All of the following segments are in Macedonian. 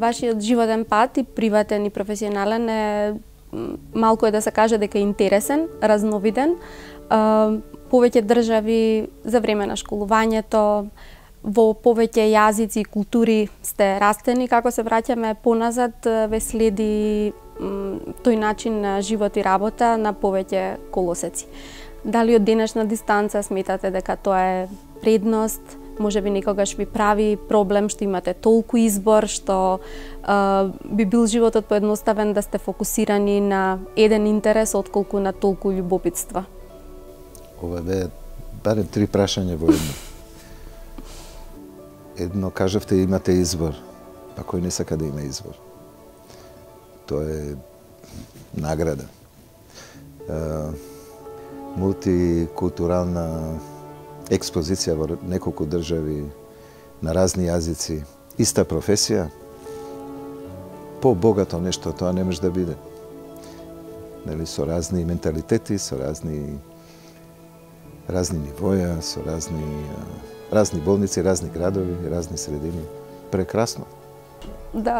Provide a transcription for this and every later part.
Вашиот животен пат, и приватен и професионален, е малку е да се каже дека е интересен, разновиден. Повеќе држави за време на школувањето, во повеќе јазици и култури сте растени. Како се враќаме поназад, ве следи тој начин на живот и работа на повеќе колосеци. Дали од денешна дистанца сметате дека тоа е предност? Може би некогаш ви прави проблем што имате толку избор, што би бил животот поедноставен да сте фокусирани на еден интерес отколку на толку љубопитства? Ова бе барем 3 прашања во едно. Едно кажавте имате избор, па кој не сака да има избор? Тоа е награда. Мултикултурална експозиција во неколку држави, на разни јазици, иста професија, по-богато нешто тоа не може да биде. Нели, со разни менталитети, со разни нивоја, со разни болници, разни градови, разни средини. Прекрасно.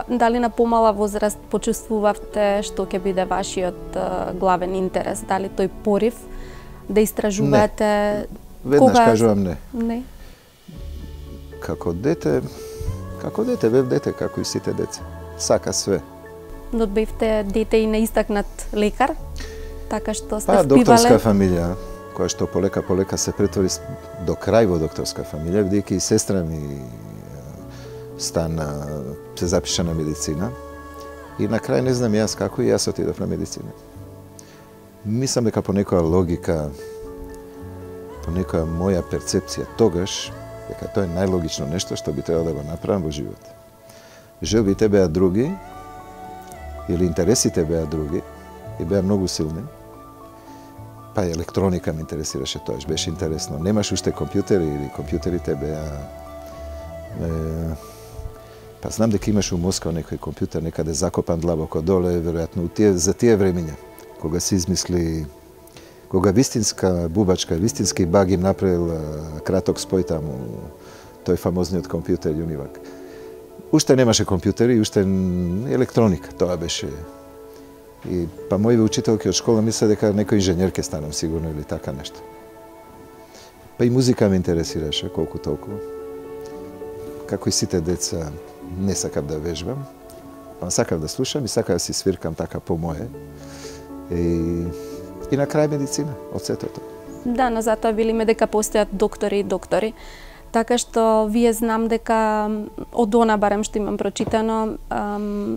Дали на помала возраст почувствувавте што ќе биде вашиот главен интерес? Дали тој порив да истражувате? Веднаш кажувам не. Не. Како дете бев дете, како и сите деца. Сака све. Но бевте дете и неистакнат лекар, така што сте впивале? Докторска фамилија, која што полека се претвори до крај во докторска фамилија, бидејќи и сестра ми се запиша на медицина. И на крај не знам јас како и јас отидов на медицина. Мислам дека по некоја логика, по некоја моја перцепција тогаш, дека тоа е најлогично нешто што би требало да го направам во живот. Желбите беа други, или интересите беа други, и беа многу силни. Па електроника ме интересираше тоаш, беше интересно. Немаш уште компјутери, или компјутерите беа... Па знам дека имаш у Москва некој компјутер некаде закопан длабоко доле, веројатно за тие времиња, кога се измисли, кога вистинска бубачка, вистински баг им направил краток спој таму, тој фамозниот компјутер Univac. Уште немаше компјутери, уште електроника, тоа беше. И па моите учителки од школа мислеа дека некој инженер ќе станам сигурно или така нешто. Па и музика ме интересираше колку толку. Како и сите деца, не сакав да вежбам, па сакав да слушам и сакав да си свиркам така по мое. И на крај медицина, од сето тоа. Да, но затоа велиме дека постојат доктори и доктори. Така што вие знам дека од она барем што имам прочитано,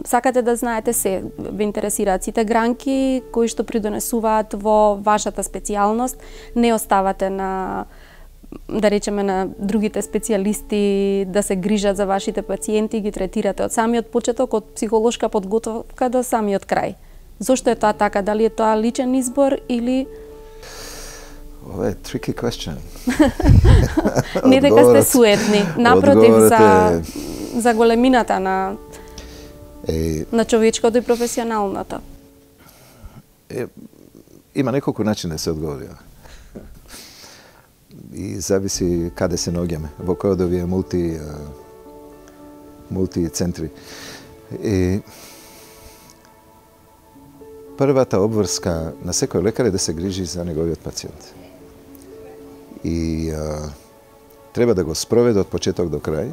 сакате да знаете се, ве интересираат сите гранки кои што придонесуваат во вашата специјалност, не оставате на, да речеме, на другите специјалисти да се грижат за вашите пациенти, ги третирате од самиот почеток, од психолошка подготовка до самиот крај. Зошто е тоа така? Дали е тоа личен избор или... Ова е tricky question. Не дека сте суетни, напротив, за големината на човечкото и професионалното. Има неколку начини да се одговори. И зависи каде се наоѓаме, во кој од овие мултицентри. Првата обврска на секој лекар е да се грижи за неговиот пациент. И треба да го спроведе од почеток до крај.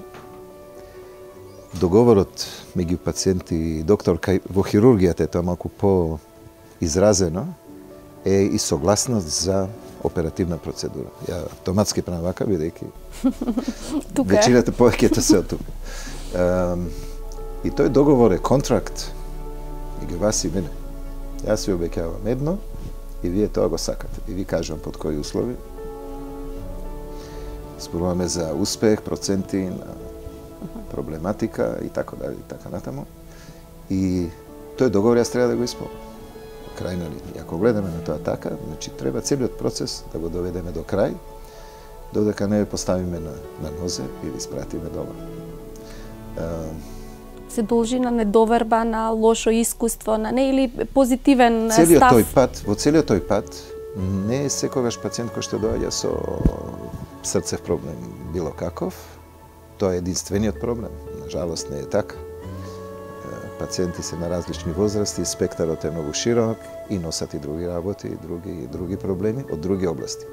Договорот меѓу пациент и доктор, во хирургијата е тоа малку по-изразено, е и согласност за оперативна процедура. Ја автоматски правам вака, бидејќи веćината повеќето се од тука. И тој договор е контракт и вас и мене. Јас ви обеќавам едно и вие тоа го сакате. И ви кажувам под кои услови. Зборуваме за успех, проценти, проблематика и така дали, и така натаму. И тој договор јас треба да го исполнам. Крај, нали, ако гледаме на тоа така, значи треба целиот процес да го доведеме до крај, додека не поставиме на нозе и ви испратиме дома. Се должи на недоверба, на лошо искуство, на не или позитивен целиот став? Во целиот тој пат не е секогаш пациент кој што доаѓа со срцев проблем било каков. Тоа е единствениот проблем. На жалост не е така. Пациенти се на различни возрасти, спектарот е многу широк и носат и други работи, и други проблеми од други области.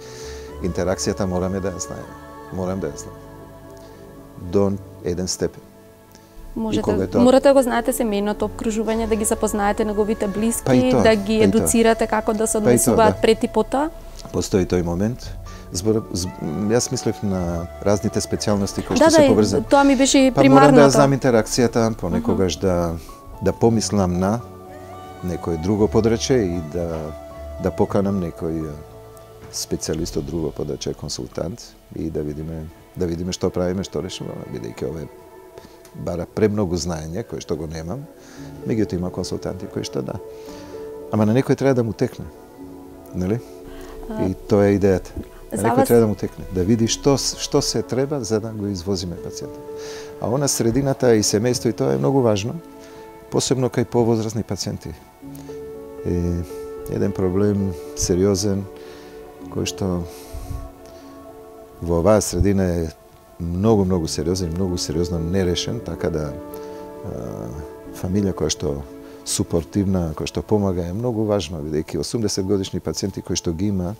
Интеракцијата мораме да ја знаеме. Морам да ја знам. До еден степен. Морате да го знаете семејното обкружување, да ги запознаете неговите блиски, да ги едуцирате како да се однесуваат пред и потоа. Постои тој момент. Јас мислев на разните специјалности кои што се поврзани. Да, тоа ми беше примарното. Морам да знам интеракцијата, понекогаш да помислам на некој друго подраче и да поканам некој специјалист од друго подраче, консултант, и да видиме што правиме, што решаваме, бидејќи ова бара премногу знаење, кој што го немам, меѓутоа има консултанти кои што да. Ама на некој треба да му текне, нели? И тоа е идејата. Некој треба да му текне, да види што се треба за да го извозиме пациентот. А она средината и семејство и тоа е многу важно, посебно кај повозрастни пациенти. Еден проблем сериозен кој што во оваа средина е многу сериозен и многу сериозно нерешен, така да фамилија која што супортивна, која што помага е многу важно, бидејќи 80 годишни пациенти кои што ги има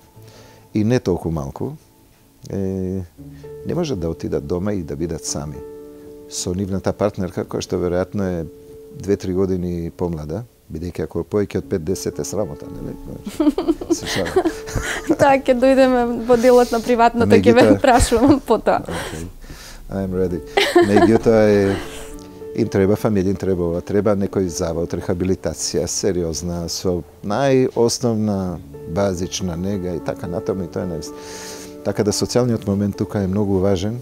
и не толку малку, не можат да отидат дома и да бидат сами. Со нивната партнерка, која што веројатно е 2-3 години помлада, бидејќи ако повеќе од 5-10 е срамота, нели? Се шалам. Така, ќе дојдеме во делот на приватното, ќе ве прашувам потоа. I'm ready. Меѓутоа им треба фамилија, треба некој завод, рехабилитација, сериозна, со најосновна базична нега и така натаму и тоа е највест. Така да социјалниот момент тука е многу важен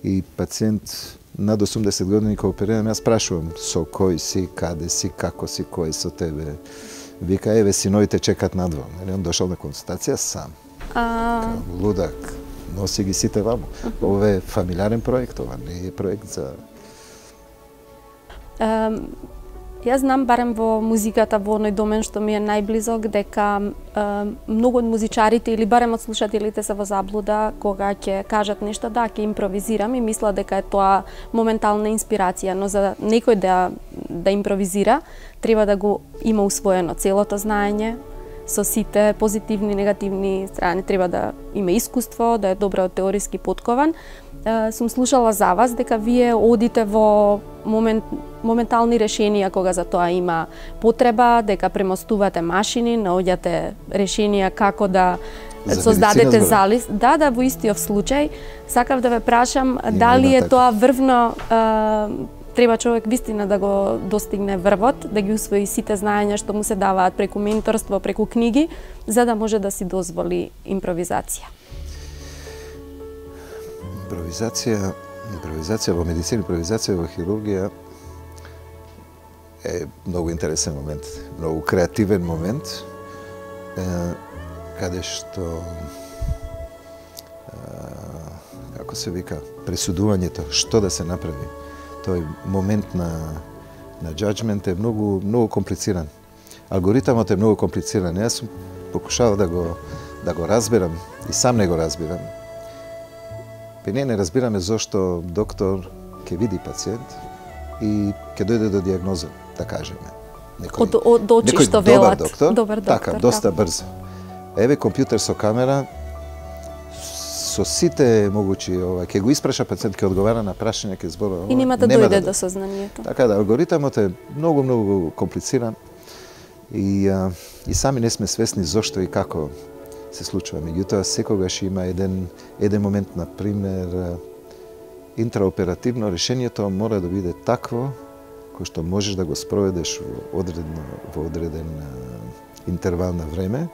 и пациент над 80 години кога оперирам, јас прашувам со кој си, каде си, како си, кој со тебе. Вика, еве, синовите чекат надвор. Он дошол на консултација сам. Лудак. Носи ги сите ваму. Ова е фамилиарен проект, ова не е проект за... Јас знам, барем во музиката, во оној домен што ми е најблизок, дека многу од музичарите или барем од слушателите се во заблуда кога ќе кажат нешто, да, ќе импровизирам и мислат дека е тоа моментална инспирација, но за некој да импровизира, треба да го има усвоено целото знаење, со сите позитивни и негативни страни, треба да има искуство, да е добро теориски поткован. Сум слушала за вас дека вие одите во моментални решенија кога за тоа има потреба, дека премостувате машини, наоѓате решенија како да создадете залис. Да, во истиот случај. Сакав да ве прашам дали е тоа врвно, треба човек вистина да го достигне врвот, да ги усвои сите знаења што му се даваат преку менторство, преку книги, за да може да си дозволи импровизација. Импровизација во медицина, импровизација во хирургија е многу интересен момент, многу креативен момент, каде што, како се вика, пресудувањето, што да се направи. Тој момент на judgment е многу комплициран. Алгоритамот е многу комплициран. Јас сум покушавал да го разберам и сам не го разбирам. Ние не разбираме зошто доктор ќе види пациент и ќе дојде до дијагноза, да кажеме. Од очи што велат. Добар доктор. Така, доста брзо. Еве компјутер со камера, со сите могучи, ќе го испраша пациент, ќе одговара на прашање, ќе зборува. И нема да дојде до сознанието. Така да, алгоритамот е многу комплициран и сами не сме свесни зошто и како се случува. Меѓутоа, секогаш има еден момент, на пример, интраоперативно решението мора да биде такво кој што можеш да го спроведеш во одреден интервал на време,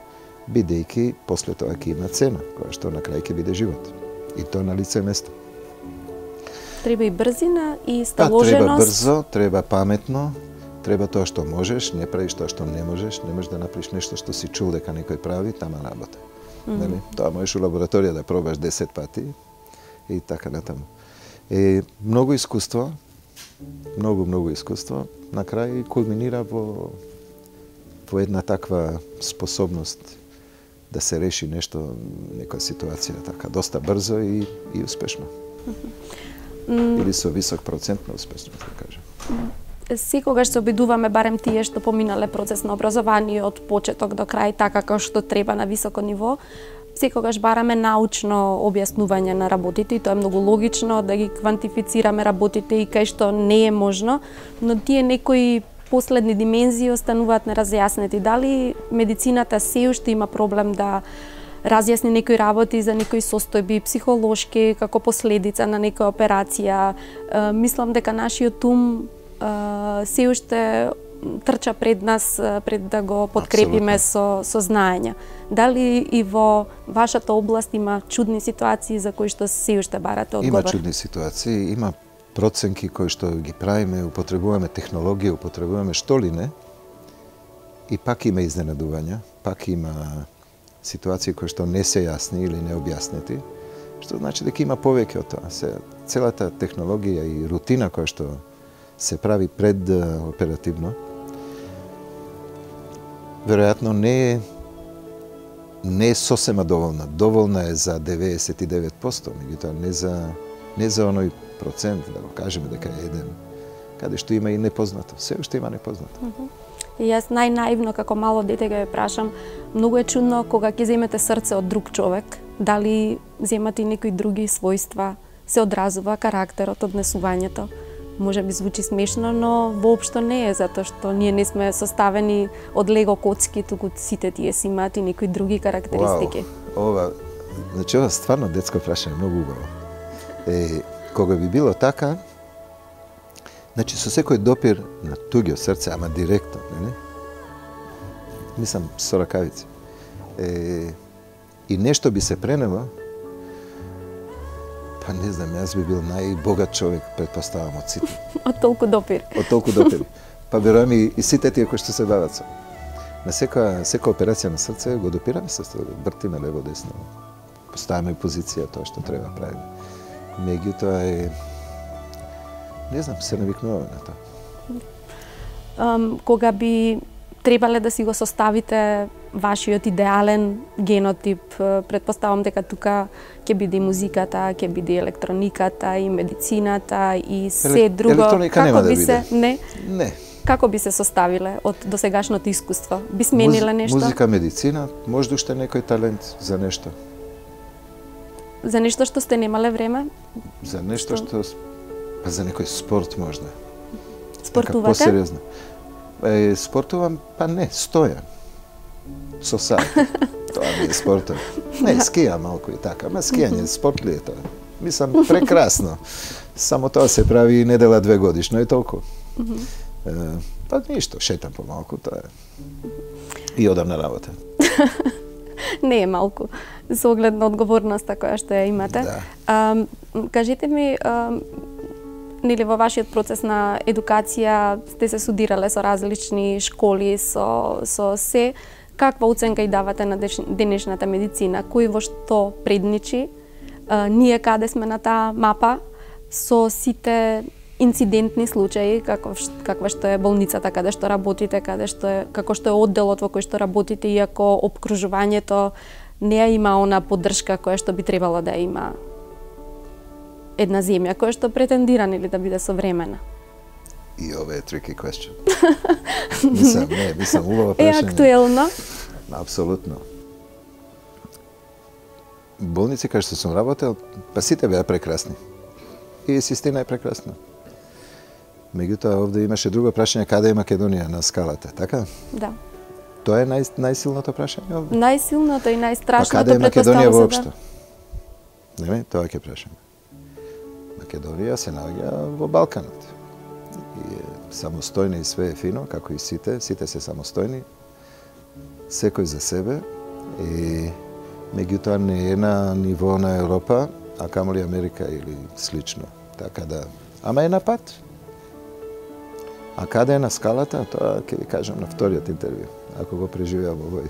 бидејќи после тоа ќе има цена, која што на крај ќе биде живот. И тоа на лице место. Треба и брзина и сталоженост. Треба брзо, треба паметно, треба тоа што можеш, не правиш тоа што не можеш да направиш нешто што си чул дека некој прави, тама работа. Нели? Тоа можеш у лабораторија да пробаш 10 пати и така натаму. Многу искуство, многу искуство, на крај кулминира во една таква способност да се реши нешто, некоја ситуација така доста брзо и успешно. Или со висок процент на успешност, да кажем. Секогаш се обидуваме, барем тие што поминале процес на образование од почеток до крај, така како што треба на високо ниво, секогаш бараме научно објаснување на работите и тоа е многу логично да ги квантифицираме работите и кај што не е можно, но тие некои последни димензии остануваат неразјаснети. Дали медицината се уште има проблем да разјасни некои работи за некои состојби психолошки како последица на некоја операција? Мислам дека нашиот ум се уште трча пред нас, пред да го подкрепиме со знаење. Дали и во вашата област има чудни ситуации за кои што се уште барате одговор? Има чудни ситуации, има проценки кои што ги правиме, употребуваме технологија, употребуваме што ли не, и пак има изненадувања, пак има ситуации кои што не се јасни или не објаснети, што значи дека има повеќе од тоа. Целата технологија и рутина која што се прави пред оперативно, веројатно не е сосема доволна. Доволна е за 99%, меѓутоа не за оној процент, да го кажеме дека е еден, каде што има и непознато. Се уште има непознато. И јас најнаивно како мало дете ќе ве прашам, многу е чудно кога ќе земете срце од друг човек, дали земате и некои други својства, се одразува карактерот, однесувањето. Може би звучи смешно, но воопшто не е, затоа што ние не сме составени од лего коцки, туку сите тие си имаат и некои други карактеристики. Значи ова стварно детско прашање, многу убаво. Кога би било така, значи со секој допир на туѓо срце, ама директно, не? Мислам со ракавици. И нешто би се пренело, па не знам, јас би бил најбогат човек, предпоставам, од сите. Од толку допир. Од толку допир. Па верувам и сите тие кои што се бават со. На секоја операција на срце го допираме се, вртиме лево десно. Поставаме позиција тоа што треба правиме. Меѓутоа не знам, се навикнуваме на тоа. Кога би требале да си го составите вашиот идеален генотип, предпоставам дека тука ќе биде и музиката, ќе биде и електрониката, и медицината, и се друго. Електроника нема да биде. Не? Не. Како би се составиле од досегашното искуство? Би смениле нешто? Музика, медицина, можда уште некој талент за нешто. За нешто што сте немале време? За нешто што... Па за некој спорт можда. Спортувате? Посериозно. Спортувам, па не, стојам. Со сат. Тоа ми е спортот. Не, скијам малку и така. Ама скијање, спорт ли е тоа? Мислам, прекрасно. Само тоа се прави недела 2 годишно и толку. Па ништо, шетам помалку, тоа е. И одам на работа. Не е малку, со оглед на одговорноста која што ја имате. Да. Кажете ми, нели во вашиот процес на едукација сте се судирале со различни школи, со се, каква оценка и давате на денешната медицина? Кој во што предничи? Ние каде сме на таа мапа со сите инцидентни случаи, каква што е болницата каде што работите, како што е одделот во кој што работите, иако опкружувањето не ја има она поддршка која што би требало да има една земја која што претендира нели да биде современа. И ова е tricky question. Мислам, убаво прашање. Е актуелно? Апсолутно. Болници кај што сум работел, па сите беа прекрасни. И система е прекрасна. Меѓутоа, овде имаше друго прашање, каде е Македонија на скалата, така? Да. Тоа е најсилното прашање овде. Најсилното и најстрашното, каде е Македонија воопшто? Да. Не, тоа ќе прашаме. Македонија се наоѓа во Балканот. И е самостојна и све е фино, како и сите се самостојни, секој за себе, и меѓутоа не е на ниво на Европа, а камоли Америка или слично. Така да, ама е на пат. А каде е на скалата, тоа ќе ви кажам на вториот интервју, ако го преживеам овој.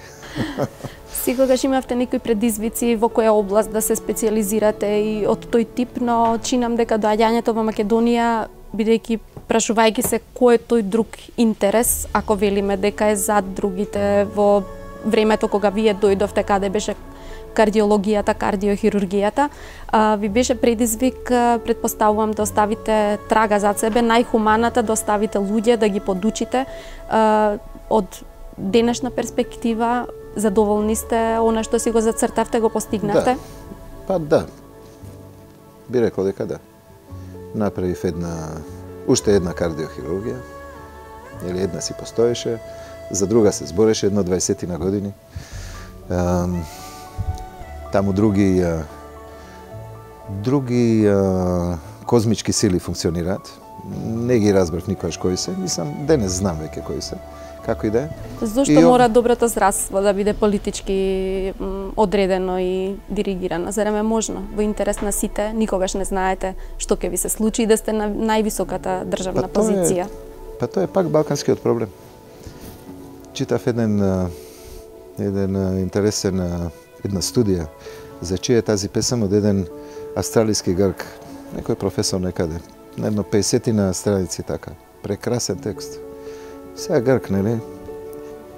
Секогаш имавте некои предизвици во која област да се специализирате и од тој тип, но чинам дека доаѓањето во Македонија, бидејќи прашувајќи се кој е тој друг интерес, ако велиме дека е зад другите во времето кога вие дојдовте, каде беше кардиологијата, кардиохирургијата, ви беше предизвик, предпоставувам, да оставите трага зад себе, најхуманата, да оставите луѓе, да ги подучите. Од денешна перспектива, задоволни сте, она што си го зацртавте, го постигнавте? Да. Па да. Би рекол дека да. Направив уште една кардиохирургија, или една си постоеше, за друга се збореше едно 20 на години. Таму други козмички сили функционираат. Не ги разбрав никогаш кои се, мислам, денес знам веќе кои се. Како и да е. Зошто мора доброто здравство да биде политички одредено и диригирано? Зарем е можно? Во интерес на сите, никогаш не знаете што ќе ви се случи и да сте на највисоката државна позиција. Тоа е пак балканскиот проблем. Читав една студија за чија е тази песам од еден австралиски грк, некој професор некаде, на едно 50 страници така. Прекрасен текст. Сега грк, нели?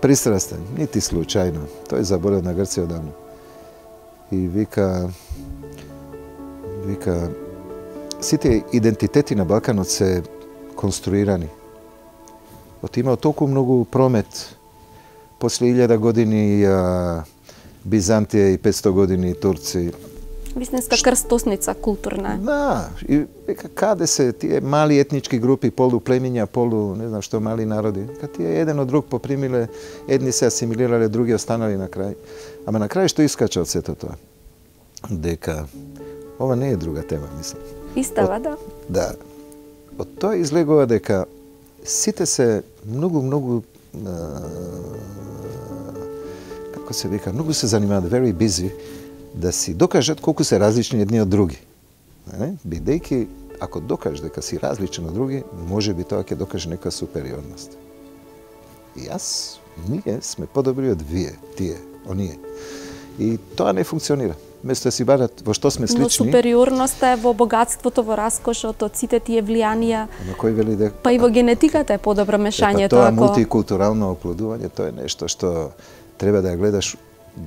Пристрастен, нити случајно. Тој заборев на Грција одамна. И вика, сите идентитети на Балканот се конструирани. Има толку многу промет. После 1000 години Бизантија и 500 години турци. Вистинска крстосница културна. Да, и каде се тие мали етнички групи, полу племиња, полу не знам што мали народи. Тие еден од друг попримиле, едни се асимилирале, други останали на крај. Ама на крај што искача од сето тоа? Дека ова не е друга тема, мислам. Истава, да. Да. Од тоа излегува дека сите се многу како се вика, многу се занимаваат, very busy, да си докажат колку се различни едни од други. Бидејќи, ако докажеш дека си различен од други, може би тоа ќе докаже нека супериорност. И ние сме подобри од вие, тие, оние. И тоа не функционира. Место да си барат во што сме слични. Но супериорноста е во богатството, во раскошот, од сите тие влијанија. Но кој вели дека... Па и во генетиката е подобро мешањето. Тоа мултикултурално оплодување, тоа е нешто што треба да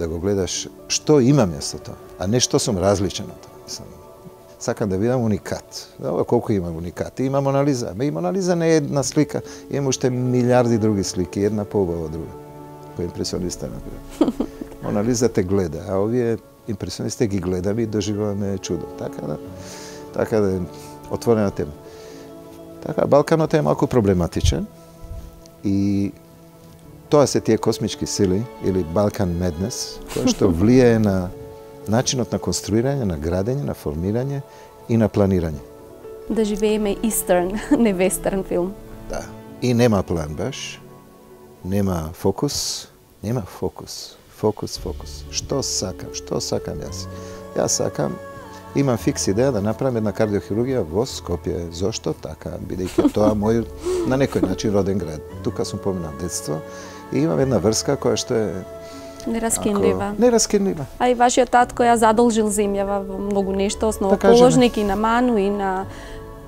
го гледаш што има место тоа, а не што сум различен од тоа. Сакам да видам уникат. Ова колку има уникати. Има Монализа. И Монализа не е една слика, има уште милиарди други слики, една поубава од друга. Кој импресиониста например. Монализа те гледа, а овие импресионисти ги гледаме и доживуваме чудо. Така да е отворена тема. Така, Балканот е малку проблематичен и тоа се тие космички сили или Balkan Madness, кој што влијае на начинот на конструирање, на градење, на формирање и на планирање. Да живееме Eastern, не Western филм. Да. И нема план баш, нема фокус. Фокус. Што сакам јас? Јас сакам, имам фикс идеја да направам една кардиохирургија во Скопје. Зошто така? Бидејќи тоа мој на некој начин роден град. Тука сум поминал детство и имам една врска која што е нераскинлива. А и вашиот татко ја задолжил земјава во многу нешто, основоположник и на МАНУ и на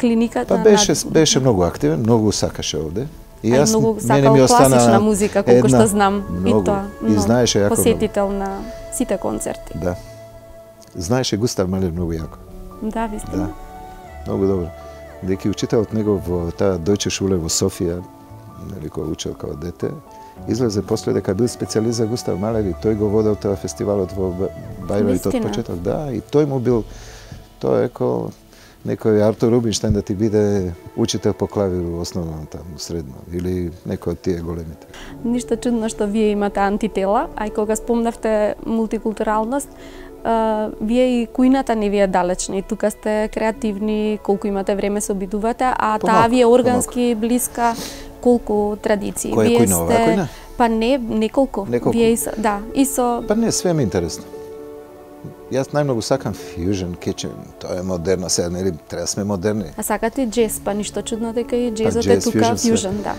клиниката. Па беше многу активен, многу сакаше овде. И јас многу сакал класична музика, колку што знам. Многу. И знаеше јако посетител на сите концерти. Да. Знаеше Густав Малер многу јако. Да, вистина. Да. Многу добро. Деки учителот него во таа Дојче шуле во Софија, нели кој учел како дете, излезе после дека бил специјалист за Густав Малер и тој го водел тоа фестивалот во Бајровит од почеток. Да, и тој му бил, тоа е некој Артур Рубинштайн да ти биде учител по клавир у основно таму, средно, или некој од тие големите. Ништо чудно што вие имате антитела, а и кога спомнавте мултикултуралност, вие и кујната не ви е далечна и тука сте креативни, колку имате време се обидувате, а таа ви е органски блиска, колку традиции. Која вие кујна, оваа кујна? Па не, неколку. Вие и со... Па не, све ми е интересно. Јас најмногу сакам fusion kitchen, тоа е модерно, сега нели треба да сме модерни. А сакате джез, па ништо чудно дека и джезот е тука fusion, да.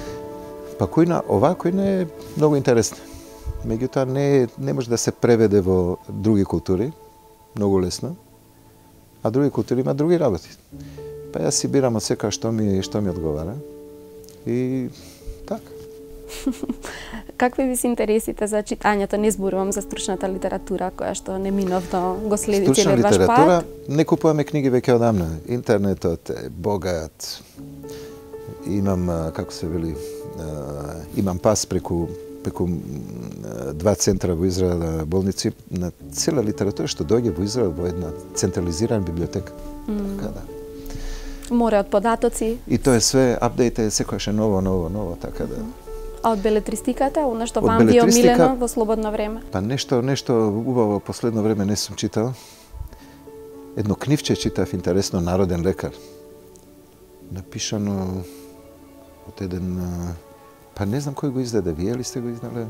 Па кујна, оваа кујна е многу интересна. Меѓутоа не може да се преведе во други култури, многу лесно. А други култури има други работи. Па јас си бирам од секоја што ми одговара. И така. Какви ви се интересите за читањето? Не зборувам за стручната литература, која што неминовно го следи целиот ваш пат. Стручна литература, не купуваме книги веќе одамна. Интернетот е богат. Имам, како се вели, имам пас преку 2 центра во Израел, болници, на цела литература што доаѓа во Израел во една централизирана библиотека. Така да. Море од податоци. И тоа е све, апдейт е секојаш ново, така да. А од белетристиката, она што вам ви е омилено во слободно време? Па нешто убаво последно време не сум читал. Едно книвче читав интересно, Народен лекар. Напишано од еден, па не знам кој го издаде, вие ли сте го издале?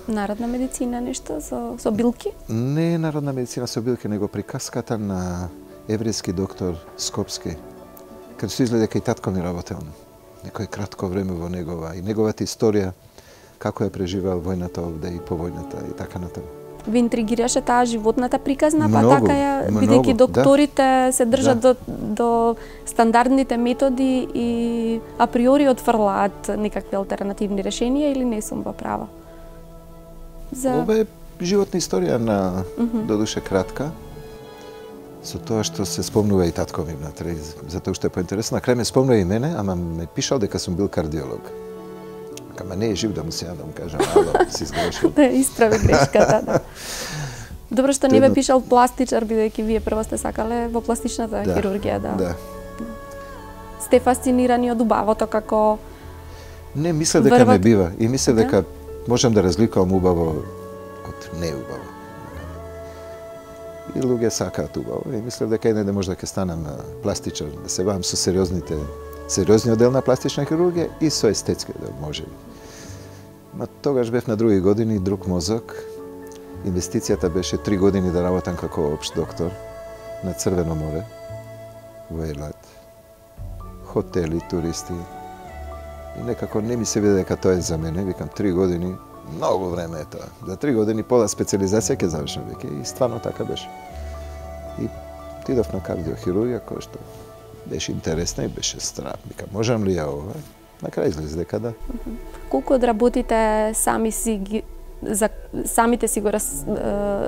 Народна медицина нешто со билки? Не народна медицина со билки, него приказката на еврејски доктор Скопски. Каде се изгледа дека и татко ми работел. Некој кратко време во негова и неговата историја, како ја преживеал војната овде и по војната и така натаму. Ви интригираше таа животната приказна, па така ја, бидејќи докторите се држат до стандардните методи и априори отфрлаат некакви алтернативни решенија или не сум во права? Ова е животна историја на додуше кратка. Со тоа што се спомнува и татко ми внатре, затоа што е поинтересно. На крај ме спомнува и мене, ама ме пишал дека сум бил кардиолог. Ама не е жив да му се јадам, кажам, ало, си сгрешил. Да, исправи грешката, да. Добро што не бе пишал пластичар, бидејќи вие прво сте сакале во пластичната хирургија, да. Сте фасцинирани од убавото како... Не, мислев дека ме бива и мислев дека можам да разликувам убаво од неубаво. И луѓе сакаат убаво и мислев дека еден може да ќе станам пластичар, да се бавам со сериозниот дел на пластична хирургија и со естетски дел може. Ма тогаш бев на други години, друг мозок. Инвестицијата беше 3 години да работам како општ доктор на Црвено море во Елат. Хотели, туристи. И некако не ми се виде дека тоа е за мене. Викам 3 години, многу време е тоа. За 3 години пола специализација ќе завршам веќе и стварно така беше. И отидов на кардиохирургија која што беше интересна и беше страв. Викам, можам ли ја ова? На крај излезе дека да. Колку одработите самите си го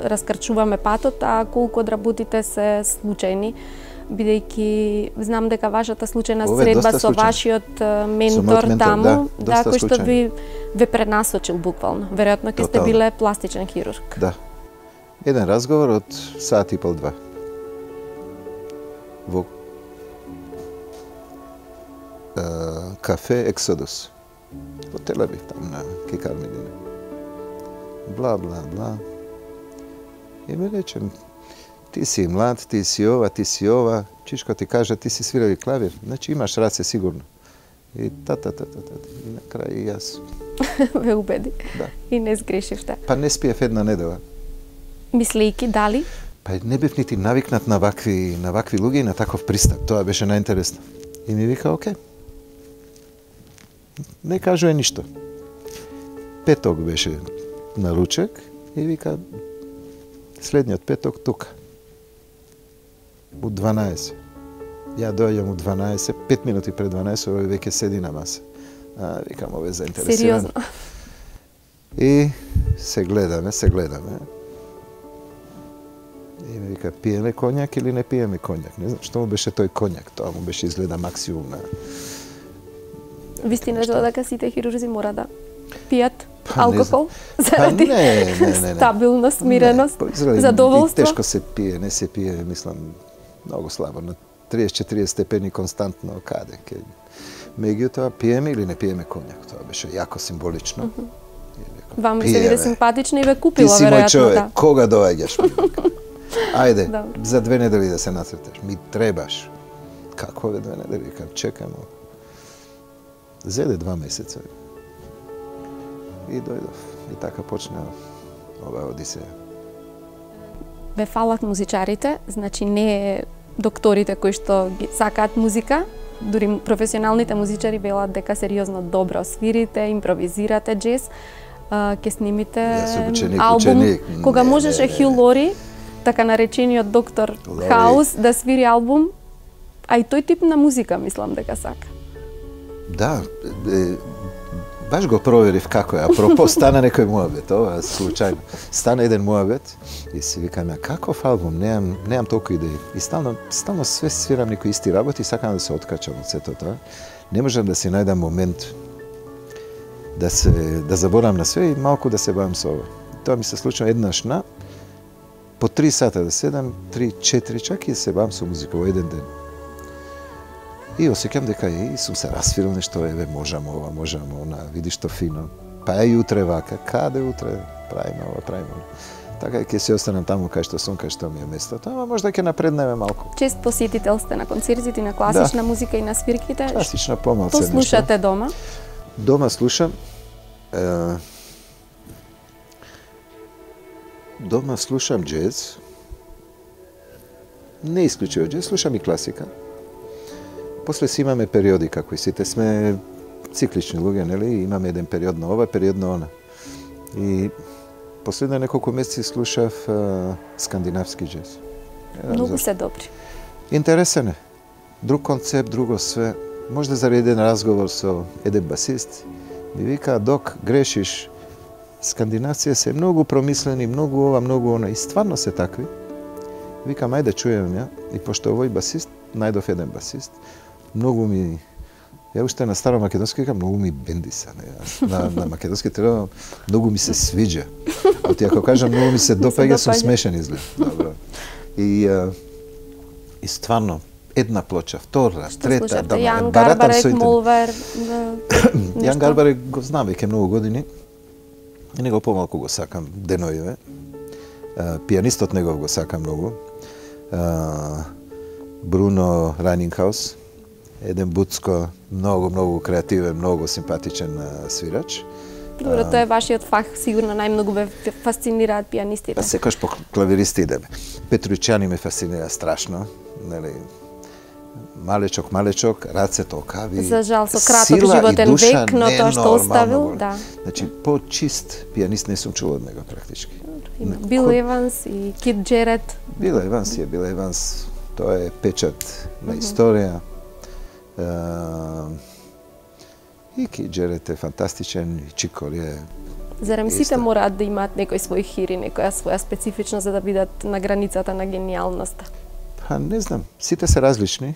раскрчуваме патот, а колку одработите се случајни, бидејќи знам дека вашата случајна средба со вашиот ментор таму, кој што ве пренасочил буквално. Веројатно ќе сте биле пластичен хирург. Да. Еден разговор од сат и пол, 2. Во кафе Ексодус. Во Тел Авив, таму на Кикар Медина. Бла, бла, бла. И ми речем, ти си млад, ти си ова, чичко ти кажа, ти си свирал и клавир, значи имаш раце сигурно. И и на крај и јас. Ве убеди. Да. И не сгрешивте. Па не спиев една недела. Мислејќи дали? Па не бев нити навикнат на вакви луѓе и на таков пристап. Тоа беше најинтересно. И ми вика, окей. Не кажува ништо. Петок беше на ручек и вика, следниот петок тука. У 12. Ја доаѓам у 12, 5 минути пред 12, овој веќе седи на маса. Викам, овој е заинтересиран. Сериозно? И се гледаме. И ми вика, пиеме коњак или не пиеме коњак? Не знам, што му беше тој коњак? Тоа му беше изгледа максимум на... Вистина е дека сите хирурзи мора да пијат алкохол заради стабилност, смиреност, задоволство? Тешко се пие, не се пие, мислам, многу слабо. На 30-40 степени константно каде. Меѓутоа, пиеме или не пиеме конјак, тоа беше јако символично. Вам се виде симпатично и ве купила, веројатно. Ти си мој човек, кога доаѓаш? Ајде, за 2 недели да се нацрташ. Ми требаш. Како 2 недели? Чекам. Зеде 2 месеца. И дојдов. И така почна оваа одисеја. Ве фалат музичарите, значи не докторите кои што ги сакаат музика, дури професионалните музичари велат дека сериозно добро свирите, импровизирате джез, ќе снимите албум. Кога можеше Хју Лори, така наречениот доктор Хаус, да свири албум, а и тој тип на музика мислам дека сака. Да, баш го проверив како е. Апропо, стана некој муабет, ова случајно. Стана еден муабет и си викам, каков албум, немам толку идеи. И стално све свирам некои исти работи и сакам да се откачам од сето тоа. Не можам да си најдам момент да заборам на све и малку да се бавам со ова. Тоа ми се случува еднаш по 3 сата да седам, 3-4 чак и да се бавам со музика во еден ден. И осеќам дека сум се расфирил нешто, можам ова, можам она, види што фино. Па и утре вака, каде утре, правиме ова, правиме ова. Така ќе се останам таму кај што сум, кај што ми е местото, ама можда ќе напреднеме малку. Чест посетител сте на концертите, на класична музика и на свирките? Класична помалце нешто. Што слушате дома? Дома слушам джез. Не исклучиво джез, слушам и класика. После си имаме периоди, како и сите сме циклични луѓе, нели? Имаме еден период на ова, период на она. И последно неколку месеци слушав скандинавски джез. Многу се добри. Интересен е. Друг концепт, друго све. Можда заради еден разговор со еден басист, ми вика, док, грешиш. Скандинавците се многу промислени, многу ова, многу она. И стварно се такви. Викам, ајде чуjem ја. И пошто овој басист, најдов еден басист, многу ми, ја уште на старо македонски викам, многу ми бендиса. На македонски треба, многу ми се свиѓа. А ти ако кажам, многу ми се допаѓа, сум смешен изглед. Добро. И стварно, една плоча, втора, трета, Јан Гарбарек, Молвер. Јан Гарбарек го знам веќе многу години. И него помалку го сакам деноиве. Пианистот негов го сакам многу. Бруно Ранингхаус, еден Буцко, многу креативен, многу симпатичен свирач. Добро, тоа е вашиот фах, сигурно најмногу ве фасцинираат пианистите. Па секојаш по клавиристи идеме. Петрујчани ме фасцинира страшно, нели? Малечок, рацето окави. За жал, со краток животен век, но тоа што оставил, да. Значи, по-чист пианист не сум чул од него практички. Бил Еванс и Кит Джерет. Бил Еванс, тоа е печат на историја. И Кит Джерет е фантастичен, и Чиколи е... Зарем сите мораат да имаат некој свој хири, некоја своја специфичност за да бидат на границата на гениалноста? Па не знам, сите се различни.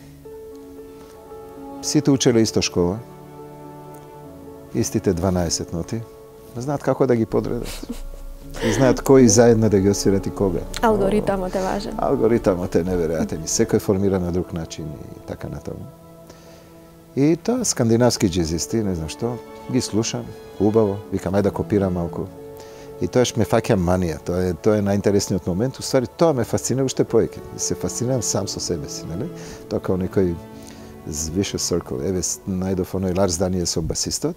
Сите учеле исто школа. Истите 12 ноти. Знаат како да ги подредат. И знаат кои заедно да ги освират и кога. Алгоритамот е важен. Алгоритамот е неверојатен. Секој формира на друг начин и така натаму. И тоа скандинавски джезисти, не знам што, ги слушам, убаво, викам ајде да копирам малку. И тоаш ме фаќа манија, тоа е најинтересниот момент. Уствари, тоа ме фасцинира уште повеќе. Се фасцинирам сам со себе си, нели? Тоа као некој vicious circle. Еве, најдов оној Ларс Даниел со басистот.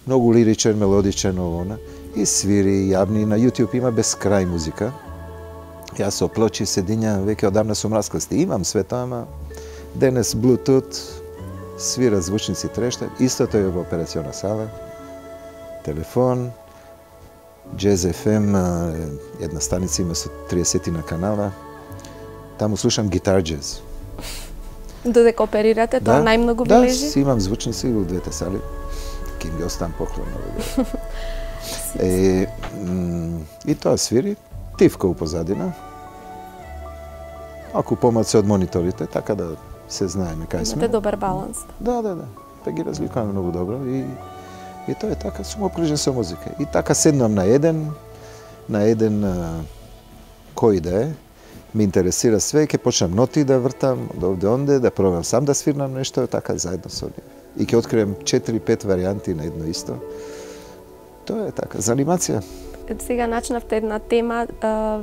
Многу лиричен, мелодичен, овона. И свири, јавни. На YouTube има безкрај музика. Јас со плочи седињам, веќе одамна сум расклести. Имам све тоа, ама денес Bluetooth, свира звучници трешта. Истото е во операциона сала. Телефон, Jazz FM, една станица има со 30 на канала. Таму слушам гитар джез. Додека оперирате, тоа најмногу бележи? Да, си имам звучници во двете сали. Ке ги оставам поклон. И тоа свири, тивка у позадина. Ако помалце од мониторите, така да се знаеме кај сме. Имате добар баланс. Да. Па ги разликуваме многу добро и тоа е така, сум обкружен со музика. И така седнам на еден кој да е, Ме интересира све, ќе почнам ноти да вртам од овде онде, да пробам сам да свирнам нешто, така заедно со нив. И ќе открием 4-5 варијанти на едно исто. Тоа е така, за анимација. Сега начнавте една тема,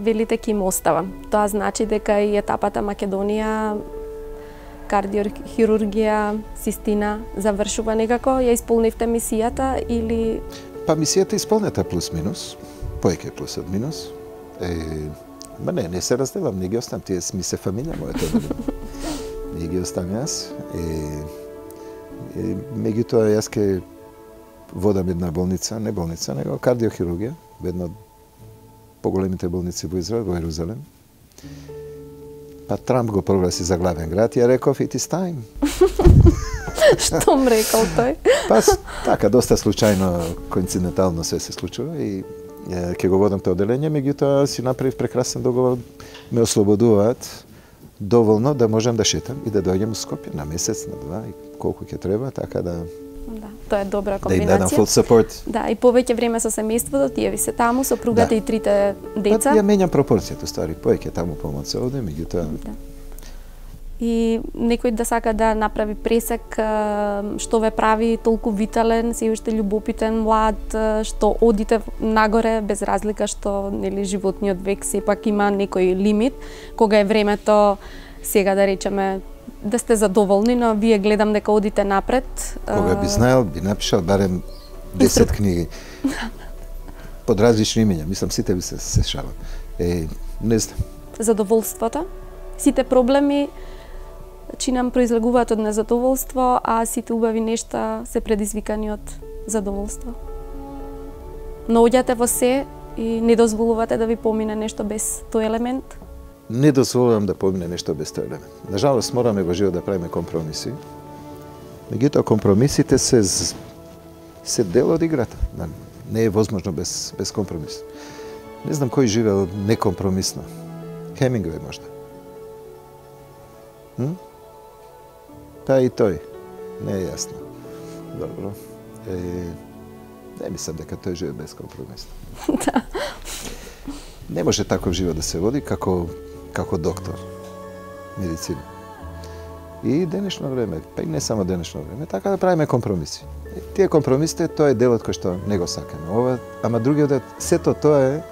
велите ќе им оставам. Тоа значи дека и етапата Македонија, кардиохирургија, цистина, завршува некако? Ја исполнивте мисијата или... Па мисијата исполнета плюс-минус, поеќе плюс од минус. Ма не се разделам, не ги оставам, тие ми се фамилија мојата. Не ги оставам јас. Меѓутоа, јас ке водам една болница, не болница, него кардиохирургија, една од поголемите болници во Израел, во Ерузалем. Па Трамп го прогласи за главен град и ја реков it is time. Што м рекол тој? Па така, доста случајно, коинцидентално се случува и ќе го водам тоа оделение, меѓутоа си направив прекрасен договор, ме ослободуваат доволно да можам да шетам и да дојдем во Скопје на месец, на два, и колку ќе треба, така да... Да, тоа е добра комбинација. Да им дадам full support. Да, и повеќе време со семејството, тие ви се таму, сопругата и трите деца. Ја менјам пропорцијата, ствари, повеќе таму помоци овде, меѓутоа... Да. И некој да сака да направи пресек што ве прави толку витален, се уште љубопитен, млад, што одите нагоре без разлика што нели животниот век сепак има некој лимит, кога е времето сега да речеме да сте задоволни, но вие гледам дека одите напред. Кога би знаел, би напишал барем 10 книги. Под различни имења, мислам сите би се шалам. Не знам. Задоволството, сите проблеми нам произлегуваат од незадоволство, а сите убави нешта се предизвикани од задоволство. Наоѓате во се и не дозволувате да ви помине нешто без тој елемент? Не дозволувам да помине нешто без тој елемент. Нажалост, мораме во живот да правиме компромиси. Меѓутоа, компромисите се дел од играта. Не е возможно без компромис. Не знам кој живеел некомпромисно. Хемингвеј можда. Па и тој. Не е јасно. Добро. Не мислам дека тој живе без компромис. Да. Не може таков живот да се води како доктор, медицина. И денешно време, па и не само денешно време, така да правиме компромиси. Тие компромисите, тоа е делот кој што не го сакаме. Ама другиот дел, сето тоа е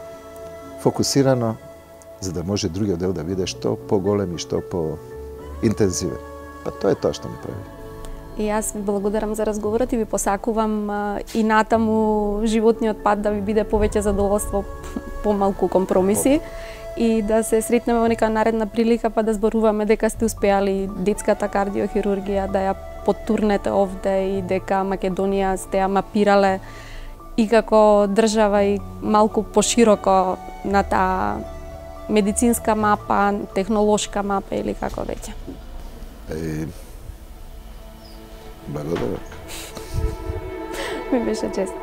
фокусирано за да може другиот дел да биде што поголем и што поинтензивен. Па тоа е тоа што ми прави. И јас ви благодарам за разговорот и ви посакувам и натаму животниот пат да ви биде повеќе задоволство, помалку компромиси и да се сретнеме во нека наредна прилика па да зборуваме дека сте успеали детската кардиохирургија да ја потурнете овде и дека Македонија сте ја мапирале и како држава и малку пошироко на таа медицинска мапа, технолошка мапа или како веќе. Благодарам. Ми беше чест.